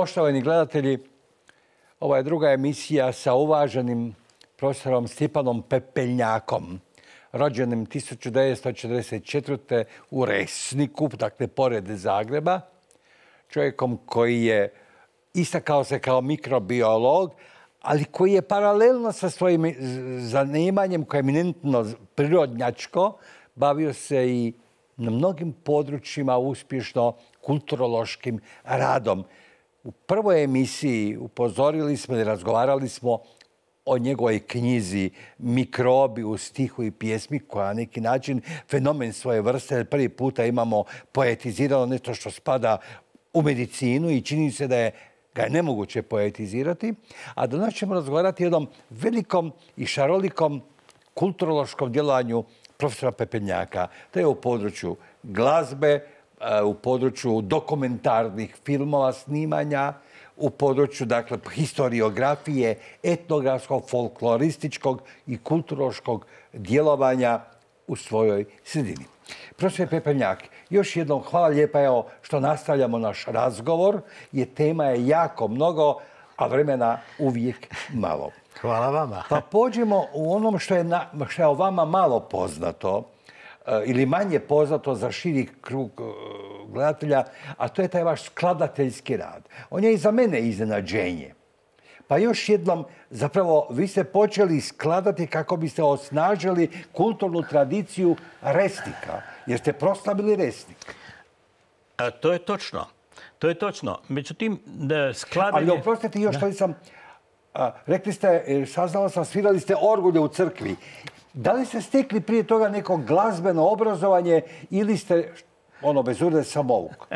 Poštovani gledatelji, ova je druga emisija sa uvaženim profesorom Stjepanom Pepeljnjakom, rođenim 1944. u Resniku, dakle pored Zagreba, čovjekom koji je istakao se kao mikrobiolog, ali koji je paralelno sa svojim zanimanjem koje je eminentno prirodnjačko, bavio se i na mnogim područjima uspješno kulturološkim radom. U prvoj emisiji upozorili smo i razgovarali smo o njegovoj knjizi Mikrobi u stihu i pjesmi, koja na neki način fenomen svoje vrste. Prvi puta imamo poetizirano nešto što spada u medicinu i čini se da ga je nemoguće poetizirati. A danas ćemo razgovarati o jednom velikom i šarolikom kulturološkom djelovanju profesora Pepeljnjaka. To je u području glazbe, u području dokumentarnih filmova, snimanja, u području, dakle, historiografije, etnografskog, folklorističkog i kulturološkog djelovanja u svojoj sredini. Profesor Pepeljnjak, još jednom hvala lijepa evo što nastavljamo naš razgovor, jer tema je jako mnogo, a vremena uvijek malo. Hvala vama. Pa pođemo u onom što je o vama malo poznato, ili manje poznato za širi krug gledatelja, a to je taj vaš skladateljski rad. On je i za mene iznenađenje. Pa još jednom, zapravo, vi ste počeli skladati kako biste osnažili kulturnu tradiciju Resnika, jer ste proslavili Resnik. To je točno. To je točno. Međutim, skladanje... Ali oprostite, još što nisam... Rekli ste, saznala sam, svirali ste orgulje u crkvi. Da li ste stekli prije toga neko glazbeno obrazovanje ili ste, bez urde, samouk?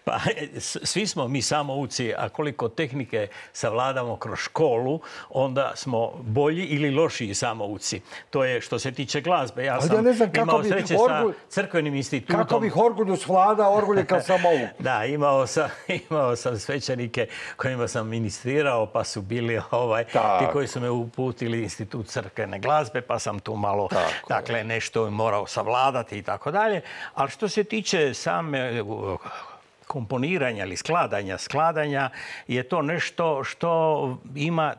Pa, svi smo mi samouci, a koliko tehnike savladamo kroz školu, onda smo bolji ili lošiji samouci. To je što se tiče glazbe. Ja sam imao sreće sa crkvenim institutom. Kako bih orgulju svladao, orgulje kao samouk? Da, imao sam svećenike kojima sam ministrirao, pa su bili ti koji su me uputili institut crkvene glazbe, pa sam tu malo, dakle, nešto morao savladati i tako dalje. Ali što se tiče same komponiranja ili skladanja je to nešto što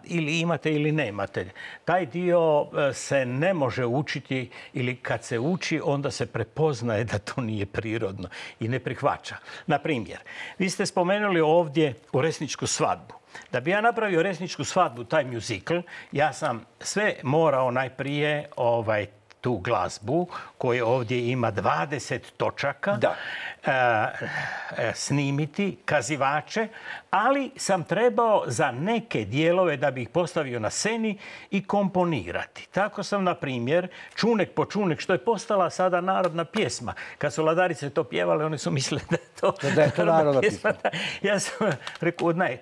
ili imate ili nemate. Taj dio se ne može učiti ili kad se uči onda se prepoznaje da to nije prirodno i ne prihvaća. Na primjer, vi ste spomenuli ovdje u Resničku svadbu. Da bi ja napravio Resničku svadbu, taj muzikl, ja sam sve morao najprije tu glazbu koju ovdje ima 20 točaka, snimiti, kazivače, ali sam trebao za neke dijelove da bi ih postavio na sceni i komponirati. Tako sam, na primjer, Čunek po čunek, što je postala sada narodna pjesma. Kad su Ladarice to pjevale, oni su mislili da je to narodna pjesma. Ja sam rekao, ne,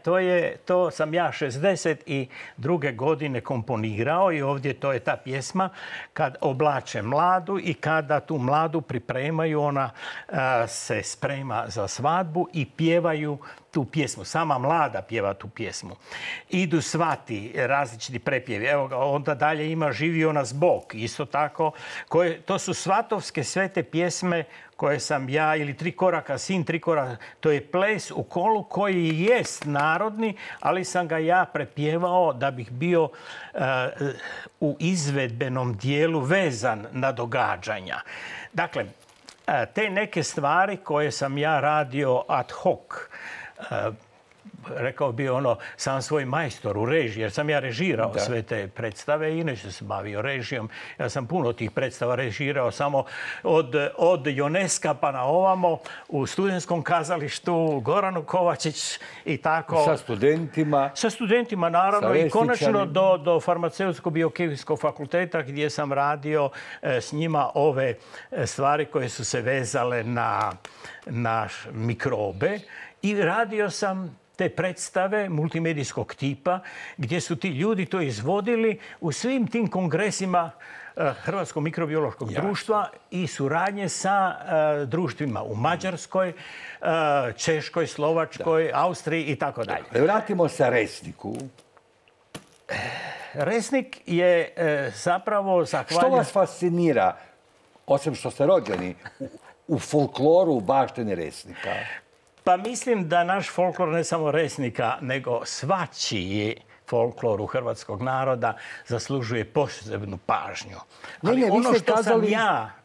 to sam ja 62. godine komponirao i ovdje to je ta pjesma kad oblače mladu i kada tu mladu pripremaju, ona se sprema za svadbu i pjevaju tu pjesmu. Sama mlada pjeva tu pjesmu. Idu svati, različiti prepjevi. Evo ga, onda dalje ima Živio nas Bog. Isto tako. To su svatovske sve te pjesme koje sam ja, ili Tri koraka sin, tri koraka. To je ples u kolu koji jest narodni, ali sam ga ja prepjevao da bih bio u izvedbenom dijelu vezan na događanja. Dakle, te neke stvari koje sam ja radio ad hoc, rekao bi sam svoj majstor u režiji, jer sam ja režirao sve te predstave i inače se bavio režijom. Ja sam puno tih predstava režirao, samo od Joneska pa na ovamo, u Studentskom kazalištu, Goranu Kovačić i tako. Sa studentima? Sa studentima, naravno, i konačno do Farmaceutsko-biokemijskog fakulteta gdje sam radio s njima ove stvari koje su se vezale na mikrobe i radio sam te predstave multimedijskog tipa gdje su ti ljudi to izvodili u svim tim kongresima Hrvatskog mikrobiološkog društva i suradnje sa društvima u Mađarskoj, Češkoj, Slovačkoj, Austriji i tako dalje. Vratimo se Resniku. Resnik je zapravo Što vas fascinira, osim što ste rođeni, u folkloru baštine Resnika? Pa mislim da naš folklor, ne samo Resnika, nego svačiji folklor u hrvatskog naroda zaslužuje posebnu pažnju. Ali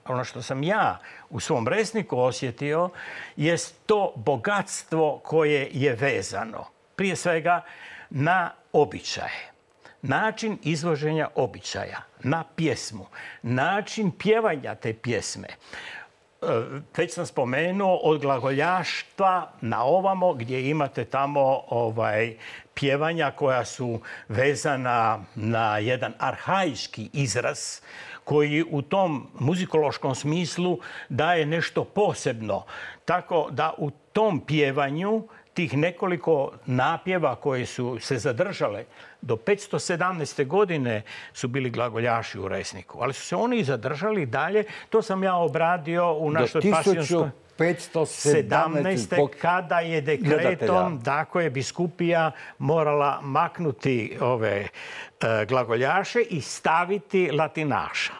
ono što sam ja u svom Resniku osjetio jest to bogatstvo koje je vezano prije svega na običaje. Način izvoženja običaja, na pjesmu, način pjevanja te pjesme. Već sam spomenuo od glagoljaštva na ovamo gdje imate tamo pjevanja koja su vezana na jedan arhaički izraz koji u tom muzikološkom smislu daje nešto posebno. Tako da u tom pjevanju tih nekoliko napjeva koje su se zadržale do 517. godine su bili glagoljaši u Resniku. Ali su se oni zadržali dalje. To sam ja obradio u našoj pasionskoj 517. kada je dekretom, dakle, biskupija morala maknuti ove glagoljaše i staviti latinaša.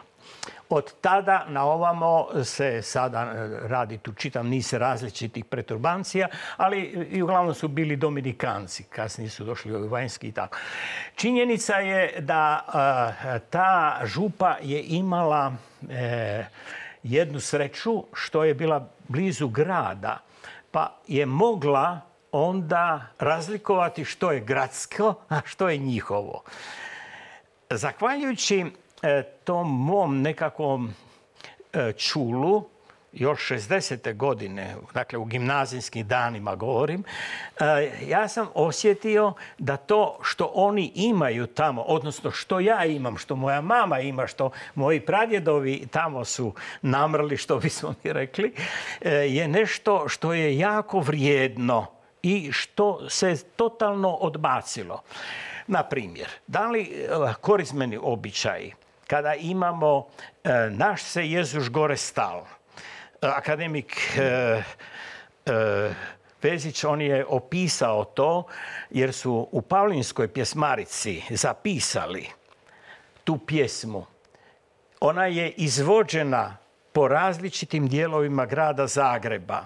Od tada na ovamo se sada radi tu čitav niz različitih preturbancija, ali i uglavnom su bili dominikanci, kasnije su došli ovi vanjski i tako. Činjenica je da ta župa je imala jednu sreću što je bila blizu grada, pa je mogla onda razlikovati što je gradsko, a što je njihovo. Zahvaljujući tom mom nekakvom čulu, još 60. godine, dakle u gimnazijskim danima govorim, ja sam osjetio da to što oni imaju tamo, odnosno što ja imam, što moja mama ima, što moji pradjedovi tamo su namrli, što bismo mi rekli, je nešto što je jako vrijedno i što se totalno odbacilo. Na primjer, da li korizmeni običaji, kada imamo naš se Jezuš gore stal, akademik Vezić, on je opisao to jer su u Pavlinskoj pjesmarici zapisali tu pjesmu. Ona je izvođena po različitim dijelovima grada Zagreba,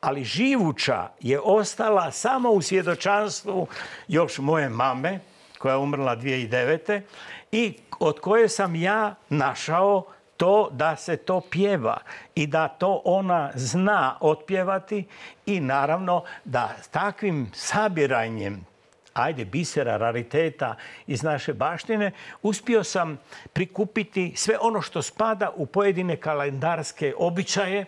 ali živuća je ostala samo u svjedočanstvu još moje mame, koja je umrla 2009. i od koje sam ja našao to da se to pjeva i da to ona zna otpjevati i naravno da takvim sabiranjem bisera, rariteta iz naše baštine, uspio sam prikupiti sve ono što spada u pojedine kalendarske običaje,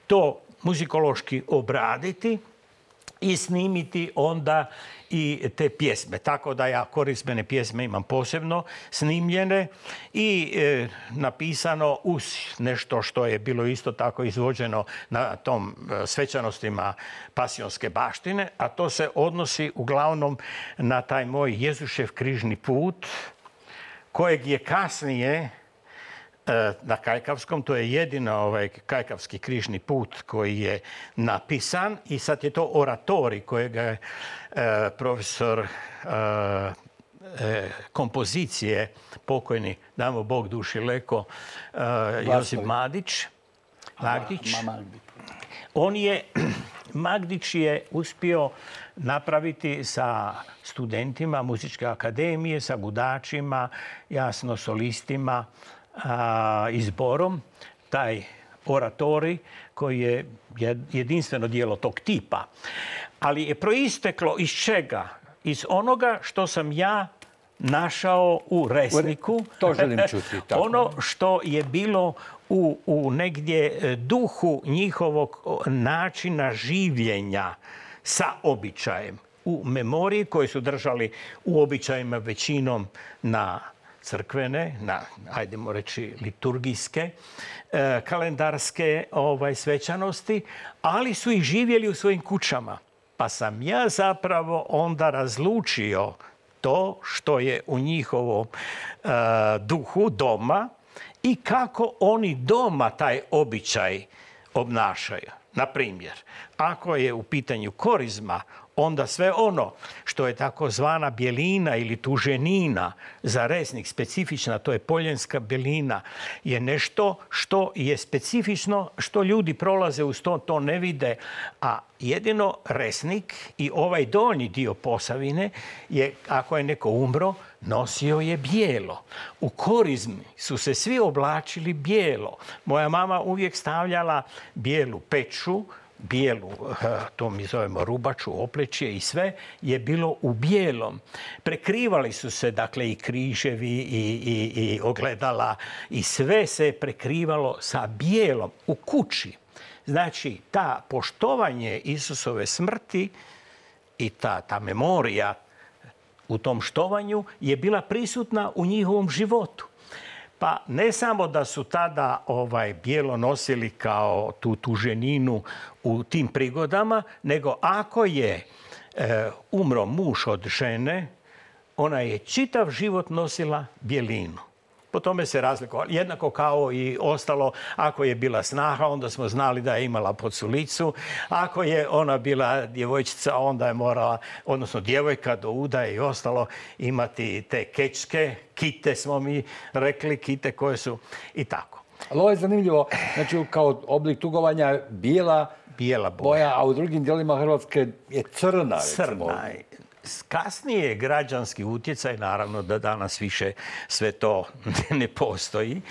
to muzikološki obraditi i snimiti onda i te pjesme. Tako da ja korizmene pjesme imam posebno snimljene i napisano uz nešto što je bilo isto tako izvođeno na tom svečanostima pasionske baštine, a to se odnosi uglavnom na taj moj Jezušev križni put, kojeg je kasnije na Kajkavskom, to je jedino Kajkavski križni put koji je napisan i sad je to oratorij kojega je profesor kompozicije, pokojni, damo Bog duši leko, Josip Magdić. Magdić je uspio napraviti sa studentima Muzičke akademije, sa gudačima, jasno solistima, izborom, taj oratorij koji je jedinstveno djelo tog tipa. Ali je proisteklo iz čega? Iz onoga što sam ja našao u Resniku. To želim čuti. Tako. Ono što je bilo u negdje duhu njihovog načina življenja sa običajem. U memoriji koje su držali u običajima većinom na crkvene, ajdemo reći liturgijske, kalendarske svečanosti, ali su ih živjeli u svojim kućama. Pa sam ja zapravo onda razlučio to što je u njihovom duhu doma i kako oni doma taj običaj obnašaju. Na primjer, ako je u pitanju korizma, onda sve ono što je takozvana bjelina ili tuženina za resnik specifična, to je poljenska bjelina, je nešto što je specifično, što ljudi prolaze uz to ne vide, a jedino resnik i ovaj donji dio Posavine je, ako je neko umro, nosio je bijelo. U korizmi su se svi oblačili bijelo. Moja mama uvijek stavljala bijelu peču, bijelu, to mi zovemo rubaču, oplečje i sve je bilo u bijelom. Prekrivali su se, dakle, i križevi i ogledala i sve se prekrivalo sa bijelom u kući. Znači, ta poštovanje Isusove smrti i ta memorija u tom štovanju je bila prisutna u njihovom životu. Pa ne samo da su tada bijelo nosili kao tu tuženinu u tim prigodama, nego ako je umro muž od žene, ona je čitav život nosila bjelinu. Po tome se razlikovalo. Jednako kao i ostalo, ako je bila snaha, onda smo znali da je imala poculicu. Ako je ona bila djevojčica, onda je morala, odnosno djevojka do udaje i ostalo, imati te kečke, kite smo mi rekli, kite koje su i tako. Ali ovo je zanimljivo, znači kao oblik tugovanja bijela boja, a u drugim dijelima Hrvatske je crna. Crna. Kasnije je građanski utjecaj, naravno da danas više sve to ne postoji,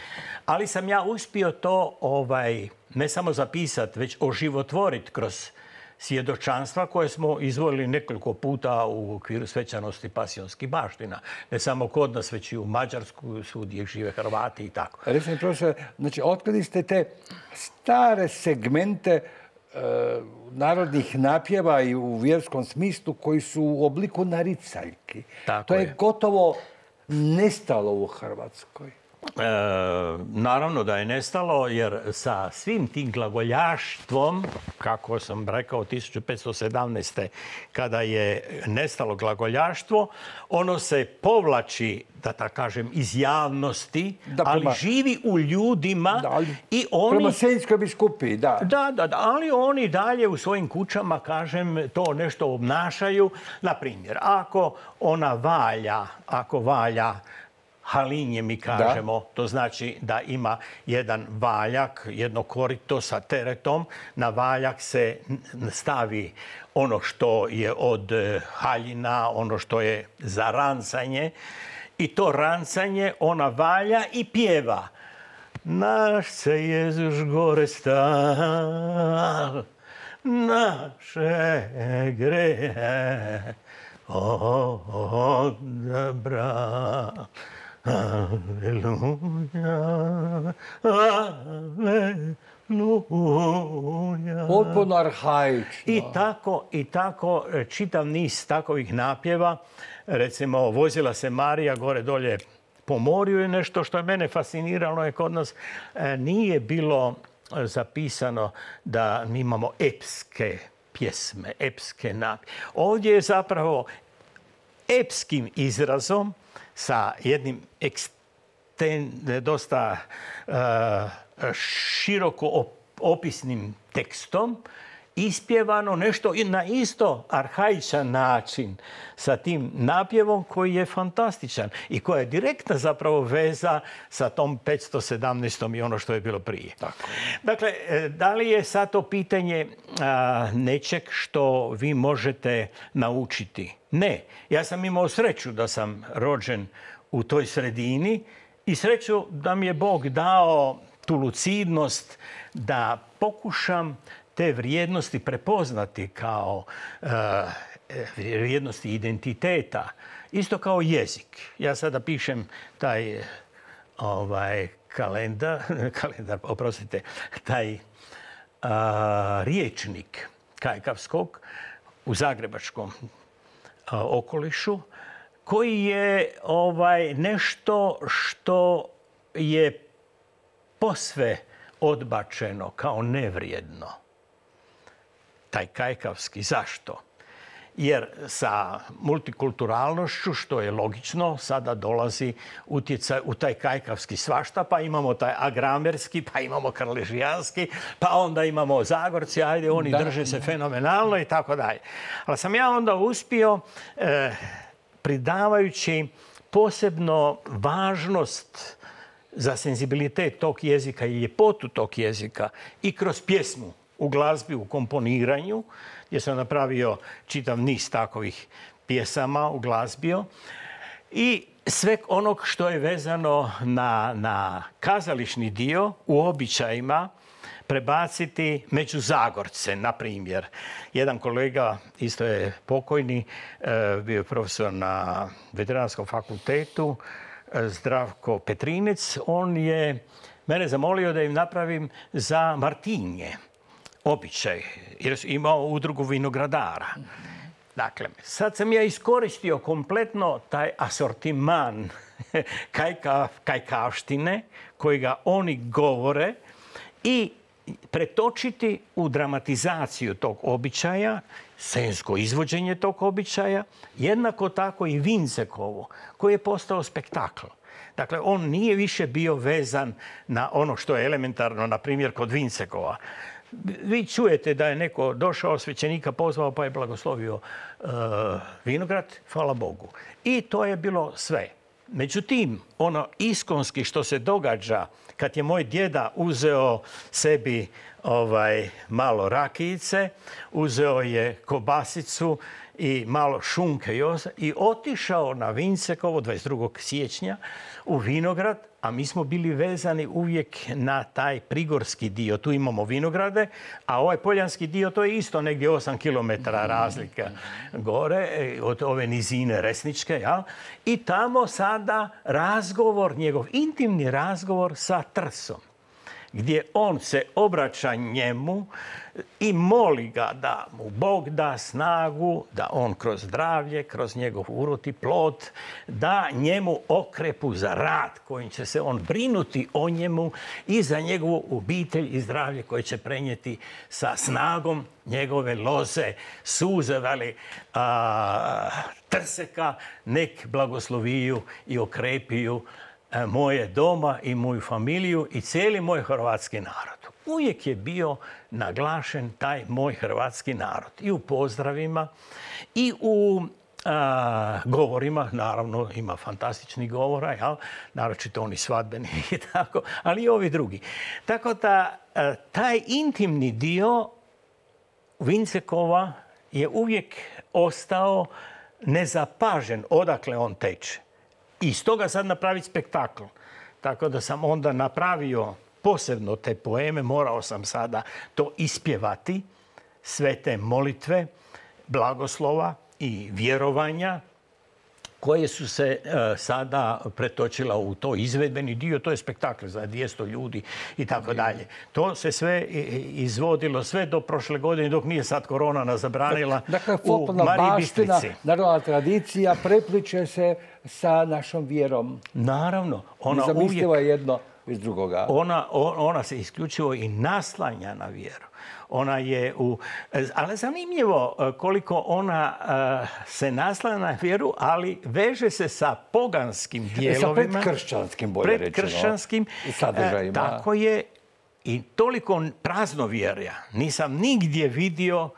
ali sam ja uspio to ne samo zapisati, već oživotvoriti kroz svjedočanstva koje smo izvolili nekoliko puta u okviru svečanosti pasionskih baština. Ne samo kod nas, već i u Mađarsku, svugdje žive Hrvati i tako. Recimo, profesor, znači, otkrili ste te stare segmente narodnih napjeva i u vjerskom smislu koji su u obliku naricaljki. To je gotovo nestalo u Hrvatskoj. Naravno da je nestalo, jer sa svim tim glagoljaštvom, kako sam rekao 1517. kada je nestalo glagoljaštvo, ono se povlači, da tako kažem, iz javnosti, ali živi u ljudima. I oni, prema Senjskoj biskupiji, da. Da, ali oni dalje u svojim kućama, kažem, to nešto obnašaju. Na primjer, ako valja halinje, mi kažemo, to znači da ima jedan valjak, jedno korito sa teretom. Na valjak se stavi ono što je od haljina, ono što je za rancanje. I to rancanje ona valja i pjeva. Naš se Jezus gore stal, naše grehe odabra. Aleluja, aleluja. Potpuno arhaično. I tako čitav niz takovih napjeva. Recimo, vozila se Marija gore dolje po morju je nešto što je mene fasciniralo. Je kod nas nije bilo zapisano da mi imamo epske pjesme, epske napjeve. Ovdje je zapravo epskim izrazom sa jednim dosta široko opisnim tekstom ispjevano nešto na isto arhaičan način sa tim napjevom koji je fantastičan i koja je direktna zapravo veza sa tom 517. i ono što je bilo prije. Tako. Dakle, da li je sad to pitanje nečeg što vi možete naučiti? Ne. Ja sam imao sreću da sam rođen u toj sredini i sreću da mi je Bog dao tu lucidnost da pokušam te vrijednosti prepoznati kao vrijednosti identiteta, isto kao jezik. Ja sada pišem taj taj riječnik kajkavskog u zagrebačkom okolišu, koji je nešto što je posve odbačeno kao nevrijedno. Taj kajkavski. Zašto? jer sa multikulturalnošću, što je logično, sada dolazi utjecaj u taj kajkavski svašta, pa imamo taj agramerski, pa imamo karležijanski, pa onda imamo Zagorci, ajde, oni drže se fenomenalno i tako dalje. Ali sam ja onda uspio, pridavajući posebno važnost za senzibilitet tog jezika i ljepotu tog jezika i kroz pjesmu, u glazbi, u komponiranju, gdje sam napravio čitav niz takovih pjesama, uglazbio, i sve onog što je vezano na kazališni dio u običajima prebaciti među Zagorce, na primjer. Jedan kolega, isto je pokojni, bio je profesor na Veterinarskom fakultetu, Zdravko Petrinec, on je mene zamolio da im napravim za Martinje običaj, jer su imao udrugu vinogradara. Dakle, sad sam ja iskoristio kompletno taj asortiman kajkavštine kojega oni govore i pretočiti u dramatizaciju tog običaja, scensko izvođenje tog običaja, jednako tako i Vincekovo, koji je postao spektakl. Dakle, on nije više bio vezan na ono što je elementarno, na primjer, kod Vincekova. Vi čujete da je neko došao, svećenika pozvao, pa je blagoslovio vinograd, hvala Bogu. I to je bilo sve. Međutim, ono iskonski što se događa kad je moj djeda uzeo sebi malo rakijice, uzeo je kobasicu i malo šunke i otišao na Vincekovo 22. siječnja u vinograd, a mi smo bili vezani uvijek na taj prigorski dio. Tu imamo vinograde, a ovaj poljanski dio, to je isto negdje 8 km razlika gore od ove nizine Resničke. Ja? I tamo sada razgovor, njegov intimni razgovor sa Trsom, gdje on se obraća njemu i moli ga da mu Bog da snagu, da on kroz zdravlje, kroz njegov urod i plod, da njemu okrepu za rad kojim će se on brinuti o njemu i za njegovu obitelj i zdravlje koje će prenijeti sa snagom njegove loze, suze, Trseka, nek blagosloviju i okrepiju moje doma i moju familiju i cijeli moj hrvatski narod. Uvijek je bio naglašen taj moj hrvatski narod. I u pozdravima, i u govorima, naravno ima fantastičnih govora, jel? Naročito oni svadbeni i tako, ali i ovi drugi. Tako da taj intimni dio Vincekova je uvijek ostao nezapažen odakle on teče. I stoga sad napraviti spektakl. Tako da sam onda napravio posebno te poeme, morao sam sada to ispjevati, sve te molitve, blagoslova i vjerovanja koje su se sada pretočila u to izvedbeni dio. To je spektakl za 200 ljudi i tako dalje. To se sve izvodilo sve do prošle godine, dok nije sad korona nas zabranila, u Mariji Bistrici. Narodna tradicija prepliče se sa našom vjerom. Naravno. Nezamislivo je jedno iz drugoga. Ona se isključivo i naslanja na vjeru. Ona je ali zanimljivo koliko ona se naslanja na vjeru, ali veže se sa poganskim dijelovima. Sa predkršćanskim, bolje rečeno. Predkršćanskim sadržajima. Tako je. I toliko praznovjerja nisam nigdje vidio,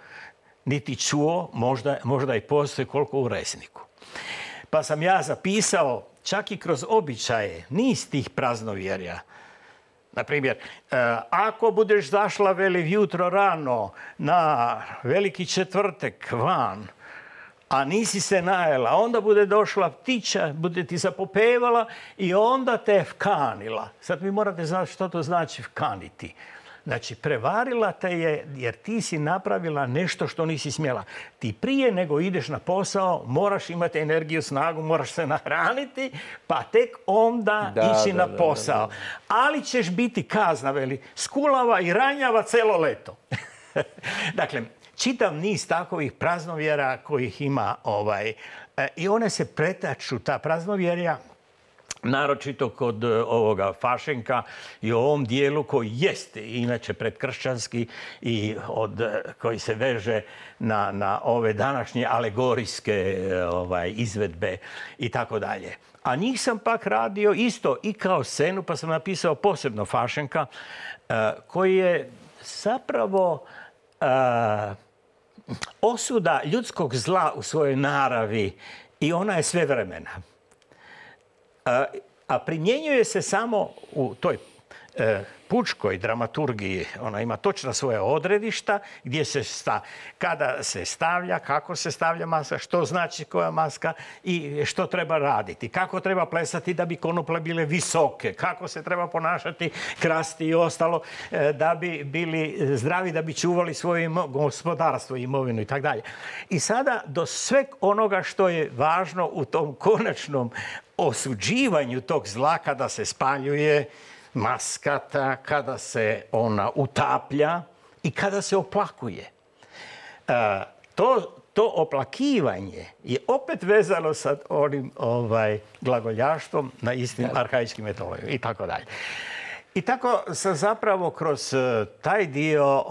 niti čuo, možda i postoji koliko u Resniku. Pa sam ja zapisao čak i kroz običaje niz tih praznovjerja. Na primjer, ako budeš zašla jutro rano na Veliki četvrtek van, a nisi se najela, onda bude došla ptića, bude ti zapopevala i onda te vkanila. Sad vi morate znati što to znači vkaniti. Znači, prevarila te je jer ti si napravila nešto što nisi smjela. Ti prije nego ideš na posao moraš imati energiju, snagu, moraš se nahraniti, pa tek onda ići na posao. Ali ćeš biti kazna, skulava i ranjava celo leto. Dakle, čitav niz takovih praznovjera kojih ima i one se pretaču, ta praznovjerja, naročito kod ovoga Fašenka i u ovom dijelu koji jeste inače predkršćanski i koji se veže na ove današnje alegorijske izvedbe i tako dalje. A njih sam pak radio isto i kao scenu, pa sam napisao posebno Fašenka, koji je zapravo osuda ljudskog zla u svojoj naravi i ona je svevremena. A primjenjuje se samo u toj pučkoj dramaturgiji. Ona ima točno svoje odredišta gdje kada se stavlja, kako se stavlja maska, što znači koja maska i što treba raditi. Kako treba plesati da bi konoplje bile visoke, kako se treba ponašati, krasti i ostalo da bi bili zdravi, da bi čuvali svoje gospodarstvo, imovinu i tako dalje. I sada do sveg onoga što je važno u tom konačnom osuđivanju tog zla kada se spaljuje maskata, kada se ona utaplja i kada se oplakuje. To oplakivanje je opet vezano sa onim glagoljaštvom na istim arhaičkim metodama i tako dalje. I tako sam zapravo kroz taj dio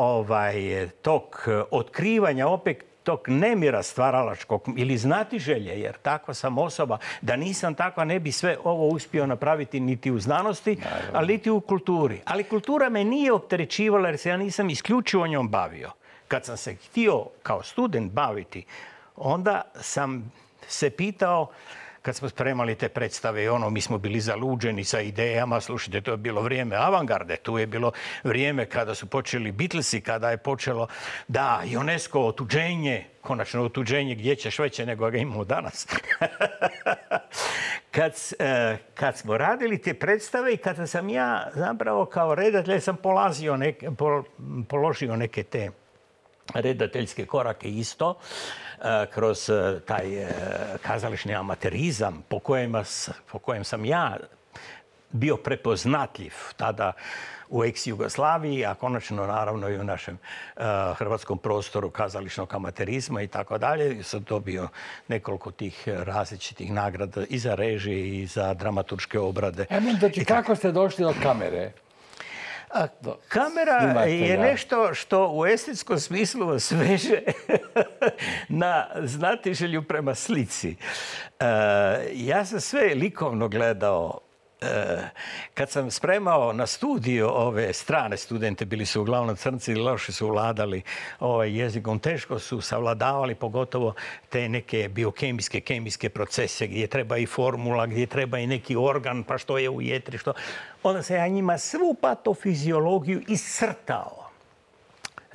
tog otkrivanja opet tog nemira stvaralačkog ili znatiželje, jer takva sam osoba, da nisam takva ne bi sve ovo uspio napraviti niti u znanosti, ali niti u kulturi. Ali kultura me nije opterećivala jer se ja nisam isključivo njom bavio. Kad sam se htio kao student baviti, onda sam se pitao, kad smo spremali te predstave i mi smo bili zaluđeni sa idejama, slušajte, to je bilo vrijeme avangarde, tu je bilo vrijeme kada su počeli Beatlesi, kada je počelo, da, UNESCO otuđenje, konačno otuđenje, gdje ćeš veće nego ga imamo danas. Kad smo radili te predstave i kada sam ja zapravo kao redatelj sam položio neke te redateljske korake isto, kroz taj kazališni amaterizam po kojem sam ja bio prepoznatljiv tada u ex-Jugoslaviji, a konačno naravno i u našem hrvatskom prostoru kazališnog amaterizma i tako dalje. Sam dobio nekoliko tih različitih nagrada i za režije i za dramaturške obrade. Kako ste došli do kamere? Kamera je nešto što u estetskom smislu vas veže na znatiželju prema slici. Ja sam sve likovno gledao. Kad sam spremao na studiju ove strane studente, bili su uglavnom crnci, loše su vladali jezikom, teško su savladavali pogotovo te neke biokemijske, kemijske procese gdje treba i formula, gdje treba i neki organ, pa što je u jetri, što... Onda sam ja njima svu patofiziologiju iscrtao,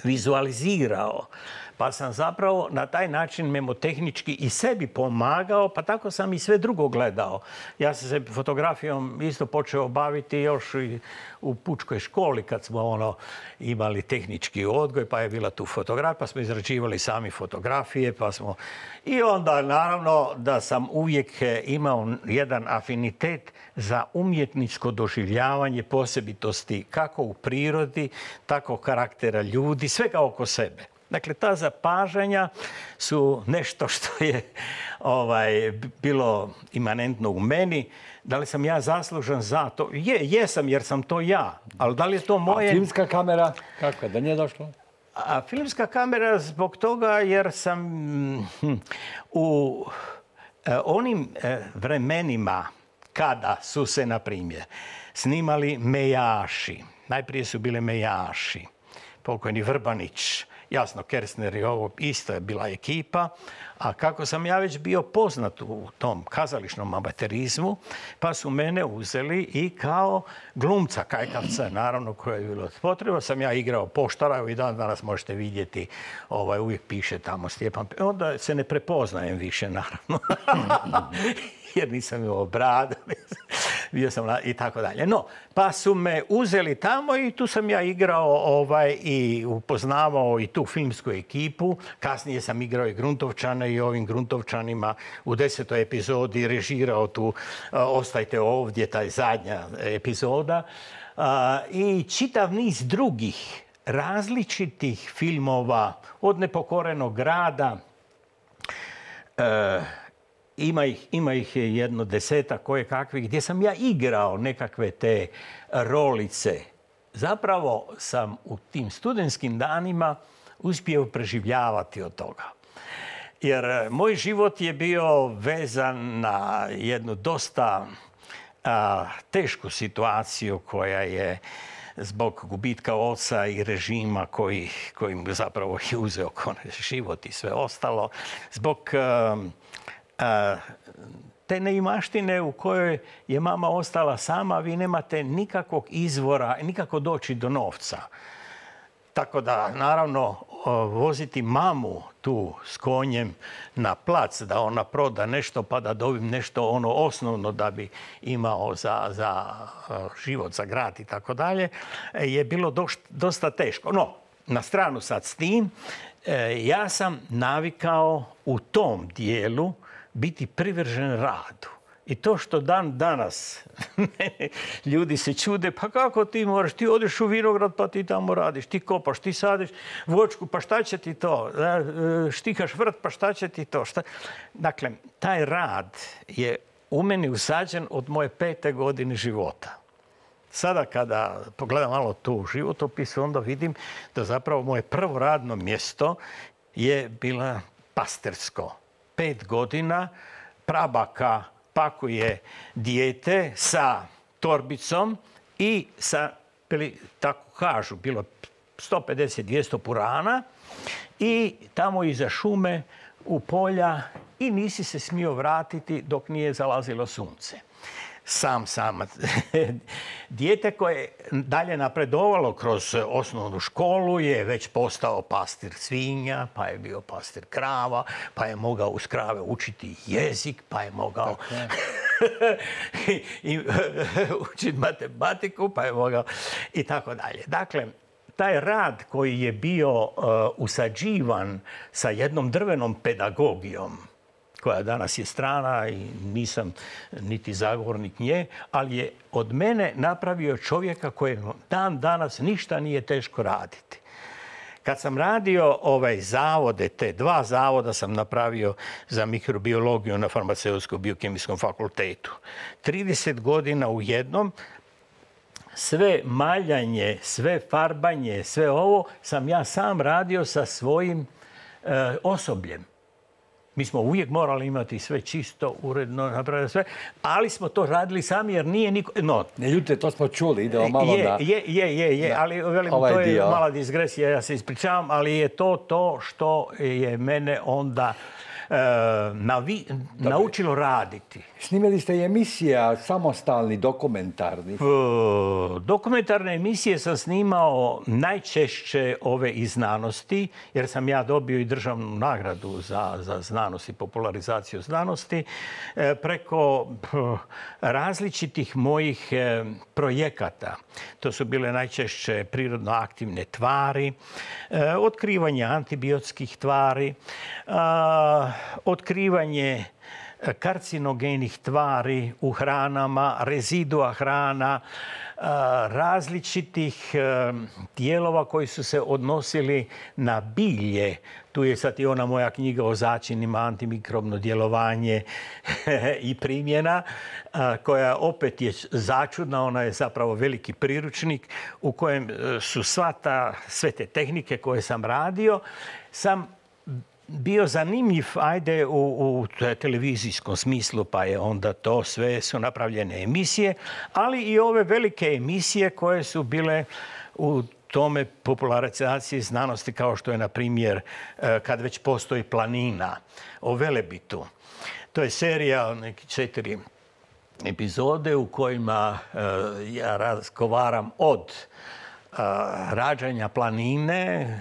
vizualizirao. Pa sam zapravo na taj način memotehnički i sebi pomagao, pa tako sam i sve drugo gledao. Ja sam se fotografijom isto počeo baviti još i u pučkoj školi kad smo imali tehnički odgoj, pa je bila tu fotografija, pa smo izrađivali sami fotografije, pa smo... I onda naravno da sam uvijek imao jedan afinitet za umjetničko doživljavanje posebitosti kako u prirodi, tako karaktera ljudi, svega oko sebe. Dakle, ta zapažanja su nešto što je bilo imanentno u meni. Da li sam ja zaslužan za to? Jesam, jer sam to ja. Ali da li je to moje... A filmska kamera, kako je, da nije došlo? A filmska kamera zbog toga jer sam u onim vremenima kada su se, na primjer, snimali Mejaši. Najprije su bile Mejaši. Pokojni Vrbanić, jasno, Kersner i ovo isto je bila ekipa, a kako sam ja već bio poznat u tom kazališnom amaterizmu, pa su mene uzeli i kao glumca, kajkavca, naravno, koje je bilo potreba. Sam ja igrao poštara, i danas možete vidjeti, uvijek piše tamo Stjepan, onda se ne prepoznajem više, naravno, jer nisam imao bradu, bio sam i tako dalje. No, pa su me uzeli tamo i tu sam ja igrao i upoznavao i tu filmsku ekipu. Kasnije sam igrao i Gruntovčane i ovim Gruntovčanima u 10. epizodi režirao tu Ostajte ovdje, taj zadnja epizoda. I čitav niz drugih različitih filmova od Nepokorenog grada, ima ih jedno 10 koje kakvih gdje sam ja igrao nekakve te rolice. Zapravo sam u tim studentskim danima uspio preživljavati od toga. Jer moj život je bio vezan na jednu dosta tešku situaciju koja je zbog gubitka oca i režima koji mu zapravo je uzeo život i sve ostalo, zbog te neimaštine u kojoj je mama ostala sama, vi nemate nikakvog izvora, nikako doći do novca. Tako da, naravno, voziti mamu tu s konjem na plac, da ona proda nešto pa da dobijem nešto ono osnovno da bi imao za život, za grad i tako dalje, je bilo dosta teško. No, na stranu sad s tim, ja sam navikao u tom dijelu biti privržen radu. I to što dan danas ljudi se čude, pa kako ti moraš, ti odeš u vinograd pa ti tamo radiš, ti kopaš, ti sadiš voćku, pa šta će ti to, štikaš vrt, pa šta će ti to. Dakle, taj rad je u meni usađen od moje 5. godine života. Sada kada pogledam malo tu životopis, onda vidim da zapravo moje prvo radno mjesto je bila pastirsko. 5 godina prabaka pakuje dijete sa torbicom i sa, tako kažu, bilo 150-200 purana i tamo iza šume u polja i nisi se smio vratiti dok nije zalazilo sunce. Sam. Dijete koje je dalje napredovalo kroz osnovnu školu je već postao pastir svinja, pa je bio pastir krava, pa je mogao uz krave učiti jezik, pa je mogao učiti matematiku, pa je mogao i tako dalje. Dakle, taj rad koji je bio usađivan sa jednom drvenom pedagogijom, koja danas je strana i nisam niti zagovornik nje, ali je od mene napravio čovjeka kojem dan danas ništa nije teško raditi. Kad sam radio zavode, te 2 zavoda sam napravio za mikrobiologiju na Farmaceutsko-biokemijskom fakultetu. 30 godina u jednom, sve maljanje, sve farbanje, sve ovo sam ja sam radio sa svojim osobljem. Mi smo uvijek morali imati sve čisto, uredno, napraviti sve, ali smo to radili sami jer nije niko... No, ne ljute, to smo čuli, idemo malo na... ali velim, to je mala digresija, ja se ispričavam, ali je to što je mene onda naučilo raditi. Snimali ste i emisija samostalni, dokumentarni? Dokumentarne emisije sam snimao najčešće ove iz znanosti, jer sam ja dobio i državnu nagradu za znanost i popularizaciju znanosti preko različitih mojih projekata. To su bile najčešće prirodno aktivne tvari, otkrivanje antibiotskih tvari, otkrivanje karcinogenih tvari u hranama, rezidua hrana, različitih dijelova koji su se odnosili na bilje. Tu je sad i ona moja knjiga o začinima, antimikrobno djelovanje i primjena, koja opet je začudna, ona je zapravo veliki priručnik u kojem su sve te tehnike koje sam radio, sam bio zanimljiv, ajde, u televizijskom smislu, pa je onda to sve su napravljene emisije, ali i ove velike emisije koje su bile u tome popularizaciji znanosti, kao što je, na primjer, Kad već postoji planina, o Velebitu. To je serija, neki 4 epizode u kojima ja razgovaram od rađanja planine,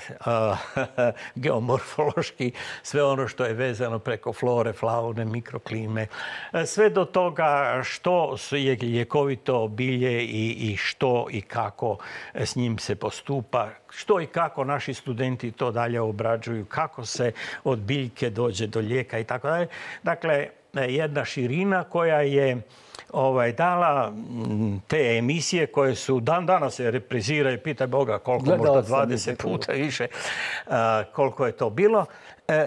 geomorfološki, sve ono što je vezano preko flore, faune, mikroklime, sve do toga što je ljekovito bilje i što i kako s njim se postupa, što i kako naši studenti to dalje obrađuju, kako se od biljke dođe do lijeka i tako dalje. Dakle, jedna širina koja je dala te emisije koje su dan danas se repriziraju, pitaj Boga koliko, možda 20 puta više, koliko je to bilo,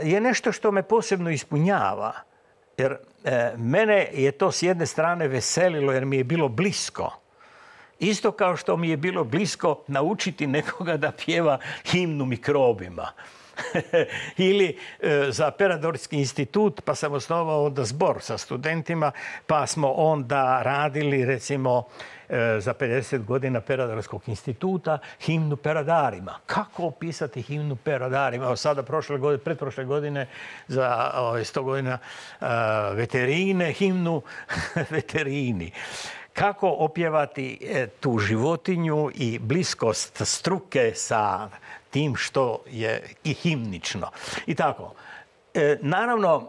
je nešto što me posebno ispunjava. Jer mene je to s jedne strane veselilo jer mi je bilo blisko. Isto kao što mi je bilo blisko naučiti nekoga da pjeva himnu mikrobima. Ili za Pedagoški institut, pa sam osnovao onda zbor sa studentima, pa smo onda radili, recimo, za 50 godina Pedagoškog instituta himnu peradarima. Kako opisati himnu peradarima? Evo sada, pretprošle godine, za 100 godina veterine, himnu veterini. Kako opjevati tu životinju i bliskost struke sa tim što je i himnično. I tako. Naravno,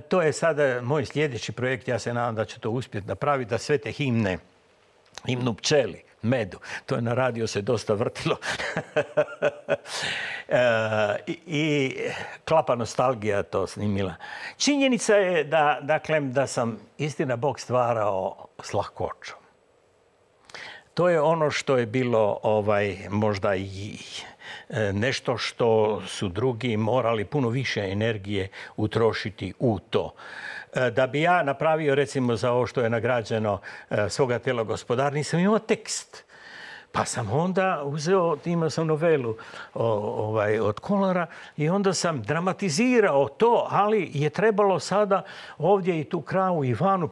to je sada moj sljedeći projekt. Ja se nadam da ću to uspjeti napraviti, da sve te himnu pčeli, medu. To je na radio se dosta vrtilo. I Klapa nostalgija to snimila. Činjenica je da sam istina Bog stvarao s lahkoćom. To je ono što je bilo možda i nešto što su drugi morali puno više energije utrošiti u to. Da bi ja napravio, recimo, za ovo što je nagrađeno Svoga tela gospodar, nisam imao tekst. Pa sam onda imao sam novelu od Kolara i onda sam dramatizirao to, ali je trebalo sada ovdje i tu kravu i vanu,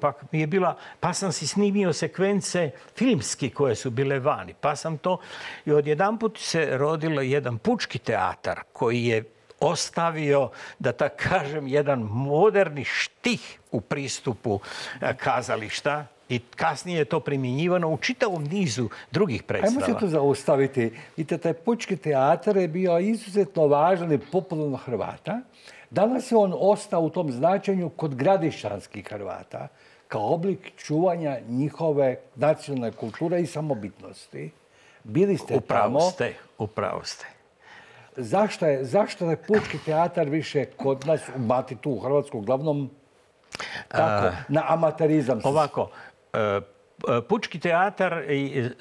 pa sam si snimio sekvence filmski koje su bile vani. Pa sam to i odjedanput se rodilo jedan pučki teatar koji je ostavio, da tako kažem, jedan moderni štih u pristupu kazališta. I kasnije je to primjenjivano u čitavom nizu drugih predstava. Ajmo se tu zaustaviti. Vidite, taj pučki teatar je bio izuzetno važan i popularan Hrvata. Danas je on ostao u tom značenju kod gradišćanskih Hrvata kao oblik čuvanja njihove nacionalne kulture i samobitnosti. Bili ste tamo. Upravo ste. Zašto je pučki teatar više kod nas umati tu u Hrvatsku uglavnom tako, na amaterizam? Ovako, pučki teatar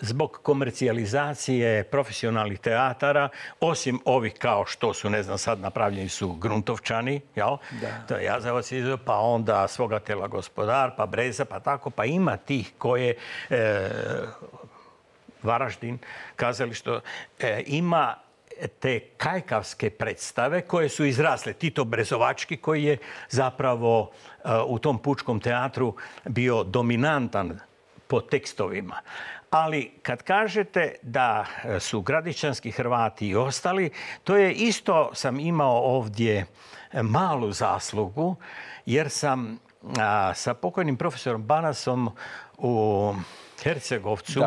zbog komercijalizacije profesionalnih teatara, osim ovih kao što su, ne znam, sad napravljeni su Gruntovčani, jel? To je Jazavac, pa onda Svoga tela gospodar, pa Breza, pa tako, pa ima tih koje Varaždin, kazalište, ima te kajkavske predstave koje su izrasle. Tito Brezovački koji je zapravo u tom pučkom teatru bio dominantan po tekstovima. Ali kad kažete da su gradišćanski Hrvati i ostali, to je isto, sam imao ovdje malu zaslugu, jer sam sa pokojnim profesorom Banasom u Hercegovcu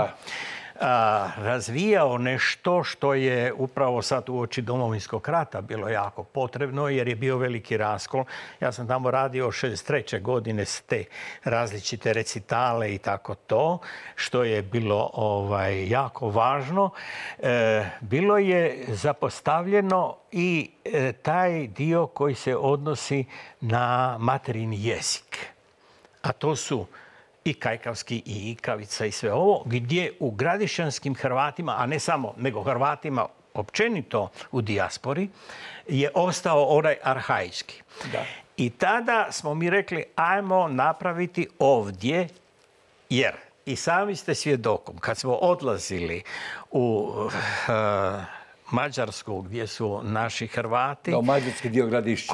razvijao nešto što je upravo sad uoči Domovinskog rata bilo jako potrebno, jer je bio veliki raskol. Ja sam tamo radio 63. godine s te različite recitale i tako to, što je bilo jako važno. Bilo je zapostavljeno i taj dio koji se odnosi na materijni jezik. A to su i kajkavski i ikavica i sve ovo, gdje u gradišćanskim Hrvatima, a ne samo, nego Hrvatima općenito u dijaspori, je ostao onaj arhaički. Da. I tada smo mi rekli, ajmo napraviti ovdje, jer i sami ste svjedokom, kad smo odlazili u Mađarsku, gdje su naši Hrvati, mađarski dio Gradišća,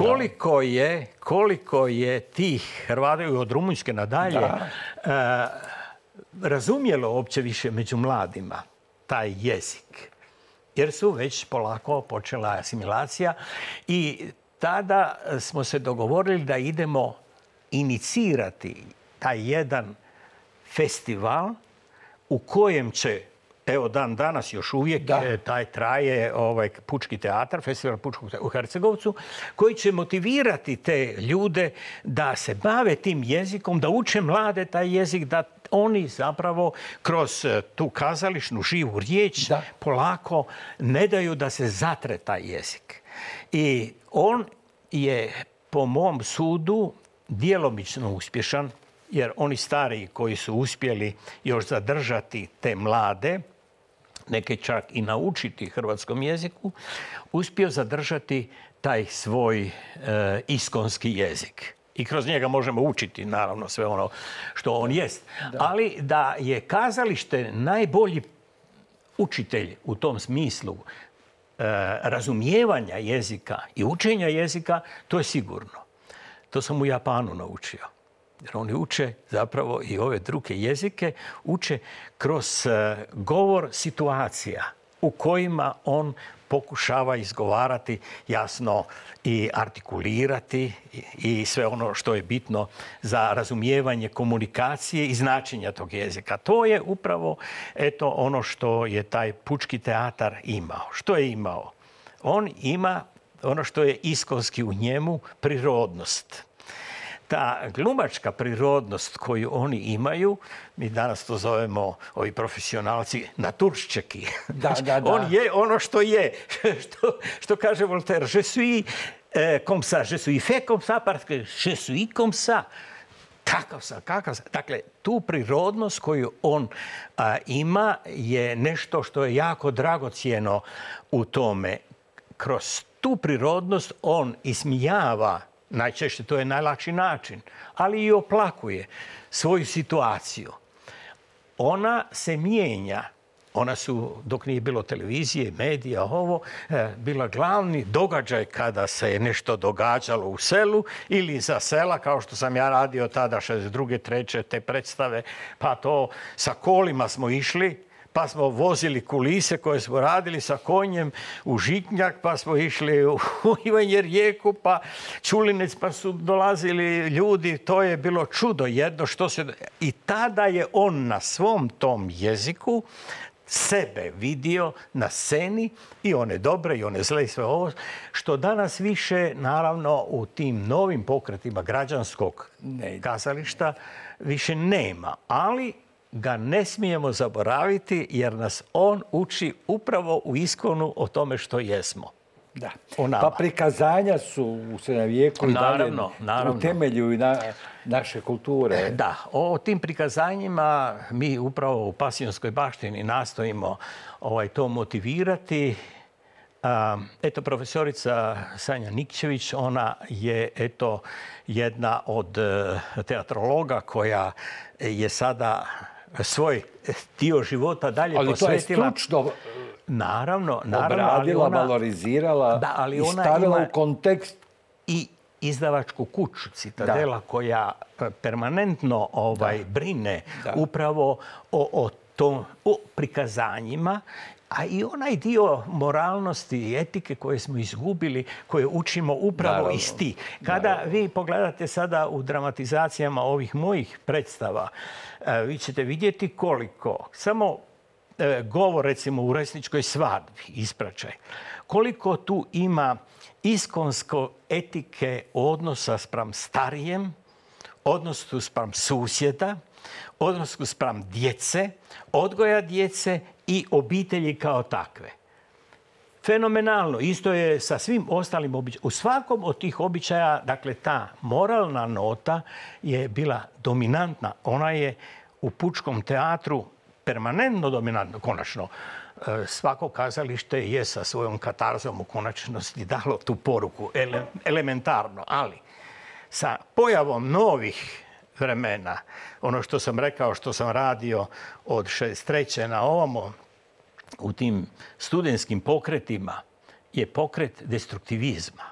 koliko je tih Hrvata od Rumunjske nadalje razumjelo uopće više među mladima taj jezik. Jer su već polako počela asimilacija i tada smo se dogovorili da idemo inicirati taj jedan festival u kojem će, evo dan danas još uvijek taj traje pučki teatar, festival pučkog teatra u Hercegovcu, koji će motivirati te ljude da se bave tim jezikom, da uče mlade taj jezik, da oni zapravo kroz tu kazališnu živu riječ polako ne daju da se zatre taj jezik. I on je, po mom sudu, djelomično uspješan, jer oni stariji koji su uspjeli još zadržati te mlade, neke čak i naučiti hrvatskom jeziku, uspio zadržati taj svoj iskonski jezik. I kroz njega možemo učiti, naravno, sve ono što on jest. Ali da je kazalište najbolji učitelj u tom smislu razumijevanja jezika i učenja jezika, to je sigurno. To sam u Japanu naučio. Jer oni uče zapravo i ove druge jezike, uče kroz govor situacija u kojima on pokušava izgovarati jasno i artikulirati i sve ono što je bitno za razumijevanje komunikacije i značenja tog jezika. To je upravo ono što je taj pučki teatar imao. Što je imao? On ima ono što je iskonski u njemu, prirodnost. Ta glumačka prirodnost koju oni imaju, mi danas to zovemo, ovi profesionalci, naturščeki. On je ono što je. Što kaže Voltaire, je suis comme ça, je suis fait comme ça, parce que je suis comme ça. Kakav sam. Dakle, tu prirodnost koju on ima je nešto što je jako dragocjeno u tome. Kroz tu prirodnost on ismijava, najčešće to je najlakši način, ali i oplakuje svoju situaciju. Ona se mijenja. Ona su, dok nije bilo televizije, medija, bila glavni događaj kada se je nešto događalo u selu ili za sela, kao što sam ja radio tada 62. 3. te predstave, pa to sa kolima smo išli, pa smo vozili kulise koje smo radili sa konjem u Žitnjak, pa smo išli u Ivanje Rijeku, pa Čulinec, pa su dolazili ljudi. To je bilo čudo jedno što se... I tada je on na svom tom jeziku sebe vidio na sceni, i one dobre i one zle i sve ovo, što danas više, naravno, u tim novim pokretima građanskog kazališta više nema. Ali ga ne smijemo zaboraviti jer nas on uči upravo u iskonu o tome što jesmo. Da. Pa prikazanja su u srednjem vijeku i dalje u temelju naše kulture. Da, o tim prikazanjima mi upravo u Pasionskoj baštini nastojimo to motivirati. Eto, profesorica Sanja Nikčević, ona je jedna od teatrologa koja je sada svoj dio života dalje posvetila. Ali to je stručno obradila, valorizirala i stavila u kontekst. I izdavačku kuću Citadela koja permanentno brine upravo o prikazanjima, a i onaj dio moralnosti i etike koje smo izgubili, koje učimo upravo iz tih. Kada vi pogledate sada u dramatizacijama ovih mojih predstava, vi ćete vidjeti koliko, samo govor recimo u Resničkoj svadbi, ispraćaj, koliko tu ima iskonsko etike odnosa spram starijem, odnosu spram susjeda, odnosu spram djece, odgoja djece i obitelji kao takve. Fenomenalno. Isto je sa svim ostalim običajima. U svakom od tih običaja, dakle, ta moralna nota je bila dominantna. Ona je u pučkom teatru permanentno dominantna. Konačno, svako kazalište je sa svojom katarzom u konačnosti dalo tu poruku elementarno, ali sa pojavom novih vremena, ono što sam rekao, što sam radio od 63. na ovamo, u tim studentskim pokretima, je pokret destruktivizma.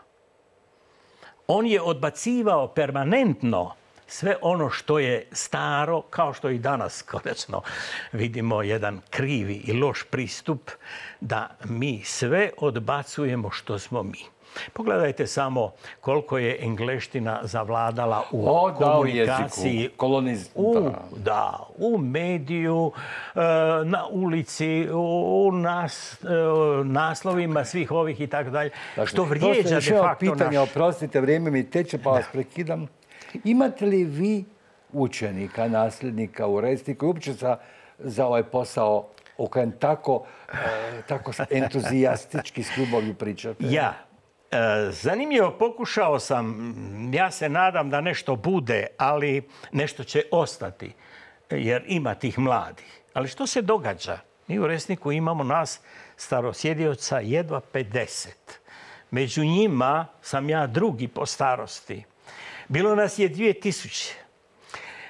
On je odbacivao permanentno sve ono što je staro, kao što i danas konačno vidimo jedan krivi i loš pristup, da mi sve odbacujemo što smo mi. Pogledajte samo koliko je engleština zavladala u komunikaciji, u mediju, na ulici, u naslovima svih ovih i tako dalje, što vrijeđa de facto pitanje, oprostite, vrijeme mi teče, pa vas prekidam. Imate li vi učenika, nasljednika u Resniku i uopće za ovaj posao o kojem tako entuzijastički s ljubavlju pričate? Ja. Zanimljivo, pokušao sam, ja se nadam da nešto bude, ali nešto će ostati, jer ima tih mladih. Ali što se događa? Mi u Resniku imamo nas starosjedioca jedva 50. Među njima sam ja drugi po starosti. Bilo nas je 2000.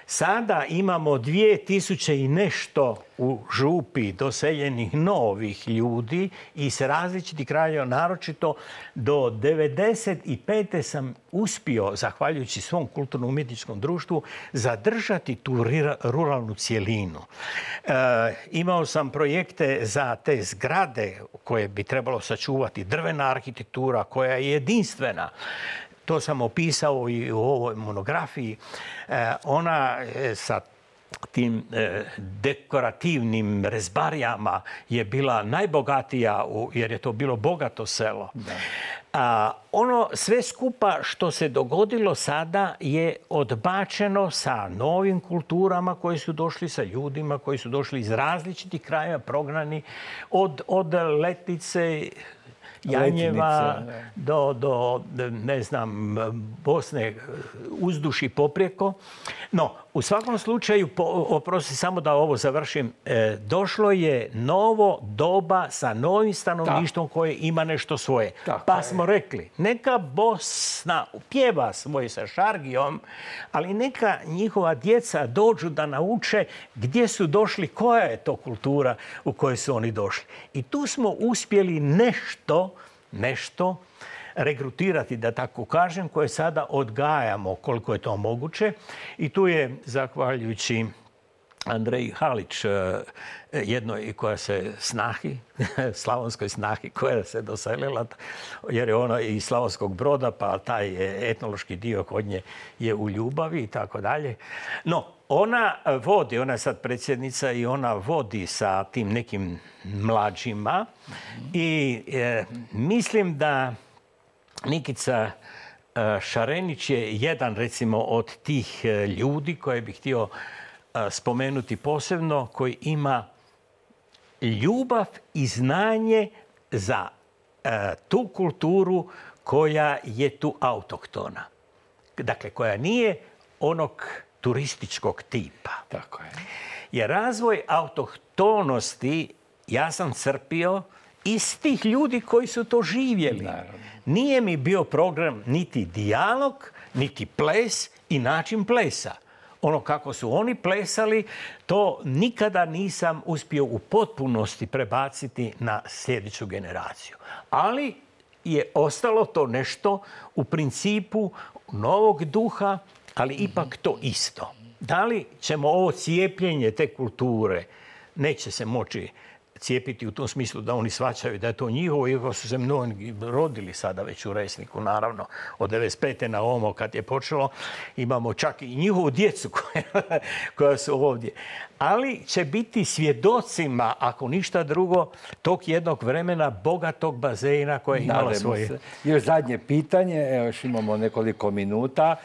Sada imamo 2000 i nešto u župi doseljenih novih ljudi iz različitih krajeva, naročito do 95. sam uspio, zahvaljujući svom kulturno-umjetničkom društvu, zadržati tu ruralnu cjelinu. Imao sam projekte za te zgrade koje bi trebalo sačuvati, drvena arhitektura koja je jedinstvena. To sam opisao i u ovoj monografiji. Ona sa tim dekorativnim rezbarijama je bila najbogatija jer je to bilo bogato selo. Ono sve skupa što se dogodilo sada je odbačeno sa novim kulturama koji su došli, sa ljudima koji su došli iz različitih krajeva, prognani od Letnice, Janjeva do ne znam, Bosne, uzduž i poprijeko. No, u svakom slučaju, oprosti samo da ovo završim, došlo je novo doba sa novim stanovništvom koje ima nešto svoje. Pa smo rekli, neka Bosna pjeva svoj sa šargijom, ali neka njihova djeca dođu da nauče gdje su došli, koja je to kultura u kojoj su oni došli. I tu smo uspjeli nešto regrutirati, da tako kažem, koje sada odgajamo koliko je to moguće. I tu je, zahvaljujući Andreji Halić, jednoj koja se snahi, slavonskoj snahi koja se doselila, jer je ona iz Slavonskog Broda, pa taj etnološki dio kod nje je u ljubavi i tako dalje. No, ona je sad predsjednica i ona vodi sa tim nekim mlađima i mislim da Nikica Šarenić je jedan, recimo, od tih ljudi koje bih htio spomenuti posebno, koji ima ljubav i znanje za tu kulturu koja je tu autohtona. Dakle, koja nije onog turističkog tipa. Tako je. Jer razvoj autohtonosti ja sam crpio iz tih ljudi koji su to živjeli. Naravno. Nije mi bio program niti dijalog, niti ples i način plesa. Ono kako su oni plesali, to nikada nisam uspio u potpunosti prebaciti na sljedeću generaciju. Ali je ostalo to nešto u principu novog duha, ali ipak to isto. Da li ćemo ovo cijepljenje te kulture, neće se moći cijepiti u tom smislu da oni shvaćaju da je to njihovo, iako su se mnogi rodili sada već u Resniku, naravno, od 95. na ovamo kad je počelo, imamo čak i njihovu djecu koja su ovdje. Ali će biti svjedocima, ako ništa drugo, tog jednog vremena bogatog bazena koje je imalo svoje. Još zadnje pitanje, evo još imamo nekoliko minuta.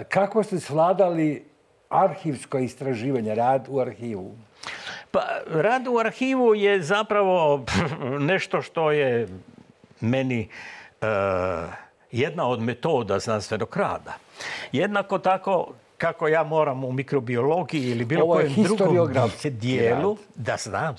Kako ste svladali arhivsko istraživanje, rad u arhivu? Pa, rad u arhivu je zapravo nešto što je meni jedna od metoda znanstvenog rada. Jednako tako kako ja moram u mikrobiologiji ili bilo kojem drugom dijelu, da znam,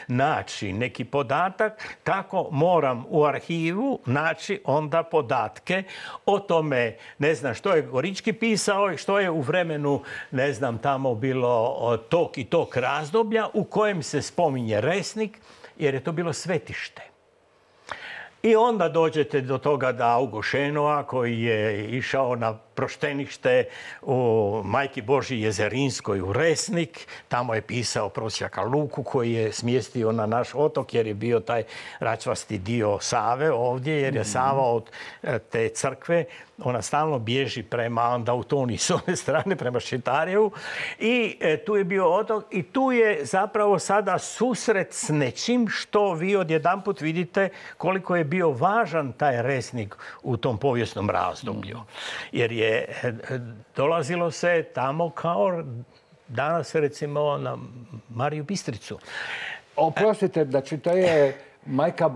naći neki podatak, tako moram u arhivu naći onda podatke o tome, ne znam, što je Gorički pisao i što je u vremenu, ne znam, tamo bilo tog i tog razdoblja u kojem se spominje Resnik, jer je to bilo svetište. I onda dođete do toga da Augo Šenoa, koji je išao na proštenište u Majki Božji Jezerinskoj u Resnik, tamo je pisao prosjaka Luku koji je smjestio na naš otok jer je bio taj račvasti dio Save ovdje, jer je Sava od te crkve, ona stalno bježi prema Andautoni s ove strane, prema Ščitarjevu. I tu je bio otok i tu je zapravo sada susret s nečim što vi odjedanput vidite koliko je bio važan taj Resnik u tom povijesnom razdoblju. Jer je dolazilo se tamo kao danas recimo na Mariju Bistricu. Oprostite, znači to je Majka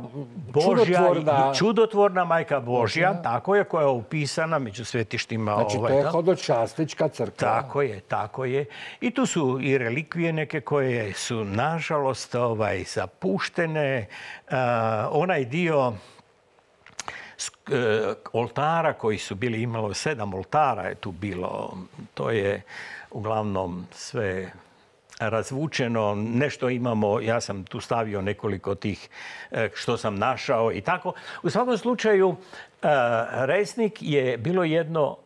Božja, čudotvorna Majka Božja, tako je, koja je upisana među svetištima. Znači to je hodočastička crkva. Tako je. I tu su i relikvije neke koje su nažalost zapuštene. Onaj dio oltara koji su bili, imalo 7 oltara je tu bilo. To je uglavnom sve razvučeno. Nešto imamo, ja sam tu stavio nekoliko tih što sam našao i tako. U svakom slučaju, Resnik je bilo jedno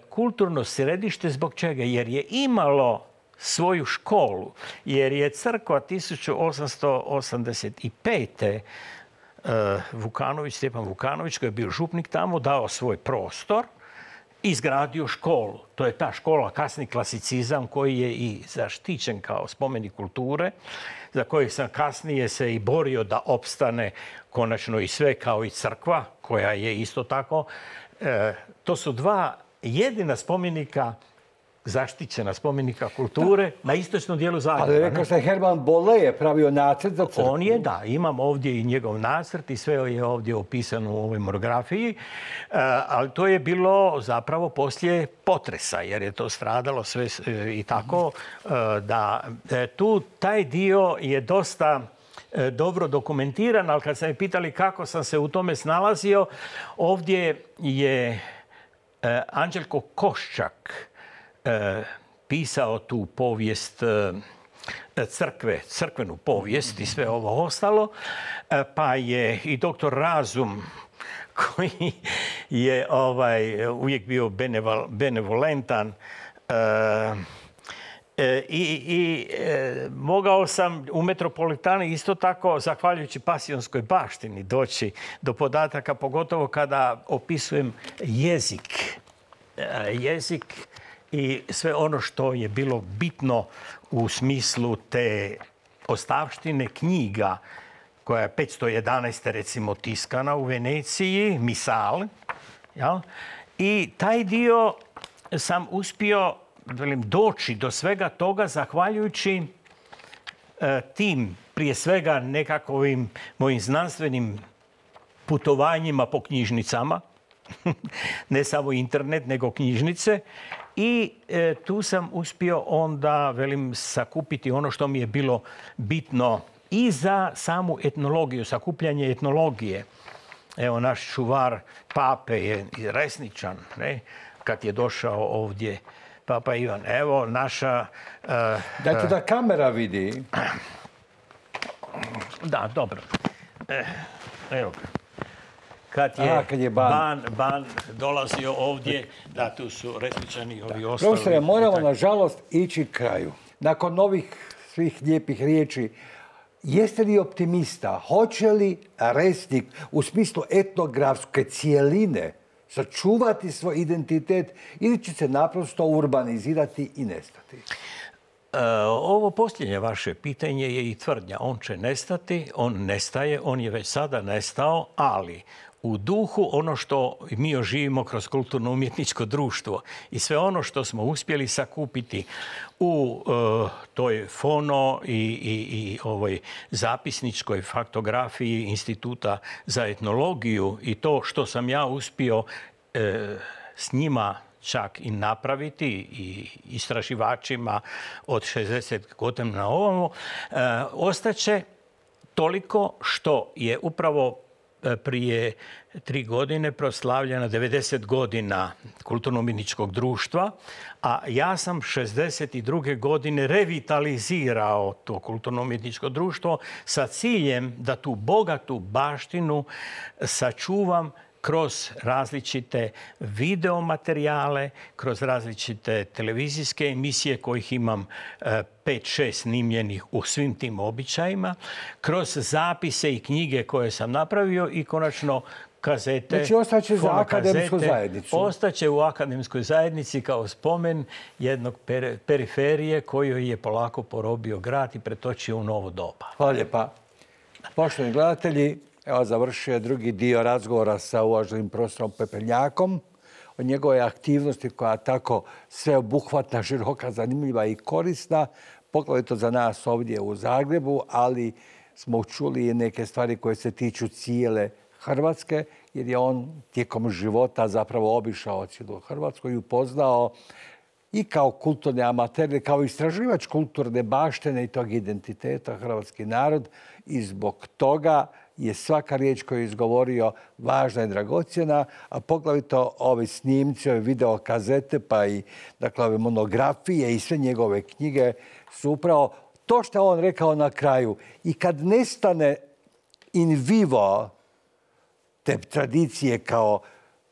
kulturno središte. Zbog čega? Jer je imalo svoju školu. Jer je crkva 1885. Stjepan Vukanović, koji je bio župnik tamo, dao svoj prostor, izgradio školu. To je ta škola, kasni klasicizam, koji je i zaštićen kao spomenik kulture, za koji sam kasnije se i borio da opstane konačno i sve kao i crkva, koja je isto tako. To su dva jedina spomenika, zaštićena spomenika kulture na istočnom dijelu Zagreba. Ali rekao se Herman Bolle je pravio nacrt za crkvu. On je, da. Imam ovdje i njegov nacrt i sve je ovdje opisano u ovoj monografiji. Ali to je bilo zapravo poslije potresa, jer je to stradalo sve i tako. Da tu taj dio je dosta dobro dokumentiran, ali kad sam me pitali kako sam se u tome snalazio, ovdje je Anđelko Koščak pisao tu povijest crkve, crkvenu povijest i sve ovo ostalo, pa je i doktor Razum, koji je uvijek bio benevolentan, i mogao sam u Metropolitani isto tako, zahvaljujući Pasionskoj baštini, doći do podataka, pogotovo kada opisujem jezik i sve ono što je bilo bitno u smislu te ostavštine knjiga, koja je 511. recimo tiskana u Veneciji, Misal. Ja? I taj dio sam uspio doći do svega toga zahvaljujući tim, prije svega nekakvim mojim znanstvenim putovanjima po knjižnicama, ne samo internet, nego knjižnice. I tu sam uspio onda, sakupiti ono što mi je bilo bitno i za samu etnologiju, sakupljanje etnologije. Evo, naš čuvar pape je Resničan, ne? Kad je došao ovdje Papa Ivan. Evo, naša... Dajte da kamera vidi. Da, dobro. Evo. Kad je Ban dolazio ovdje, da, tu su Resničani, ovi ostali. Profesore, moramo nažalost ići kraju. Nakon ovih svih lijepih riječi, jeste li optimista? Hoće li Resnik u smislu etnografske cijeline sačuvati svoj identitet ili će se naprosto urbanizirati i nestati? Ovo posljednje vaše pitanje je i tvrdnja. On će nestati, on nestaje, on je već sada nestao, ali u duhu ono što mi oživimo kroz kulturno-umjetničko društvo i sve ono što smo uspjeli sakupiti u toj fono i ovoj zapisničkoj faktografiji Instituta za etnologiju i to što sam ja uspio s njima čak i napraviti i istraživačima od 60 godina na ovamo, ostaće toliko što je upravo prije 3 godine proslavljena 90 godina kulturno-umjetničkog društva, a ja sam 62. godine revitalizirao to kulturno-umjetničko društvo sa ciljem da tu bogatu baštinu sačuvam kroz različite videomaterijale, kroz različite televizijske emisije kojih imam 5-6 snimljenih u svim tim običajima, kroz zapise i knjige koje sam napravio i konačno kazete. Znači, ostaće za akademsku zajednicu. Ostaće u akademskoj zajednici kao spomen jednog periferije koju je polako porobio grad i pretočio u novo doba. Hvala lijepa. Poštovani gledatelji, evo završio je drugi dio razgovora sa uvaženim profesorom Pepelnjakom o njegovoj aktivnosti koja je tako sveobuhvatna, široka, zanimljiva i korisna, poglavito za nas ovdje u Zagrebu, ali smo čuli i neke stvari koje se tiču cijele Hrvatske, jer je on tijekom života zapravo obišao cijelu Hrvatsku i upoznao i kao kulturni amater, kao istraživač kulturne baštine i tog identiteta hrvatski narod i zbog toga je svaka riječ koju je izgovorio važna i dragocjena, a poglavito ovi snimci, ove videokazete, pa i dakle, ove monografije i sve njegove knjige su upravo to što je on rekao na kraju. I kad nestane in vivo te tradicije kao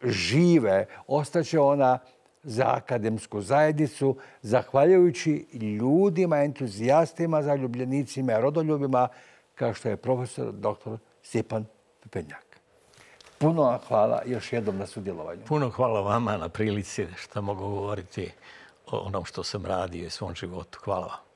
žive, ostaće ona za akademsku zajednicu, zahvaljujući ljudima, entuzijastima, zaljubljenicima, rodoljubima, kao što je profesor dr. Stjepan Pepenjak. Puno vam hvala još jednom na sudjelovanju. Puno hvala vama na prilici što mogu govoriti o onom što sam radio i svom životu. Hvala vam.